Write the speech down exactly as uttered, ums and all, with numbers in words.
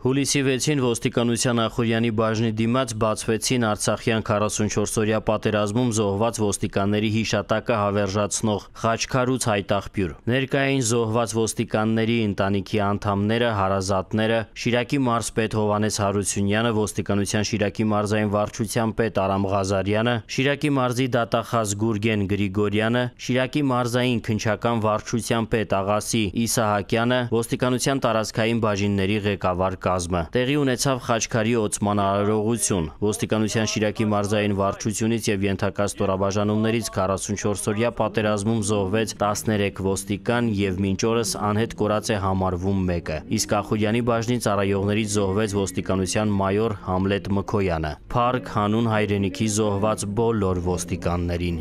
Հուլիսի վեցին ոստիկանության Ախուրյանի բաժնի դիմաց բացվեցին Արցախյան քառասունչորսօրյա պատերազմում զոհված ոստիկանների հիշատակը հավերժացնող խաչքար ու ցայտաղբյուր։ Ներկային զոհված ոստիկանների ընտանիքի անդամները, հարազատները, Շիրակի մարզպետ Հովհաննես Հարությունյանը, ոստիկանության Շիրակի մարզային վարչության պետ Արամ Ղազարյանը, Շիրակի մարզի դատախազ Գուրգեն Գրիգորյանը, Շիրակի մարզային քննչական վարչության պետ Աղասի Իսահակյանը, ոստիկանության տարածքային բաժինների ղեկավար կազմը։ Տեղի ունեցավ խաչքարի օծման արարողություն։ Ոստիկանության Շիրակի մարզային վարչությունից եւ ենթակա ստորաբաժանումներից քառասունչորսօրյա պատերազմում զոհվեց տասներեք ոստիկան եւ մինչ օրս անհետ կորած է համարվում մեկը։ Իսկ Ախուրյանի բաժնի ծառայողներից զոհվեց ոստիկանության մայոր Համլետ Մքոյանը։ Փառք հանուն հայրենիքի զոհված բոլոր ոստիկաններին։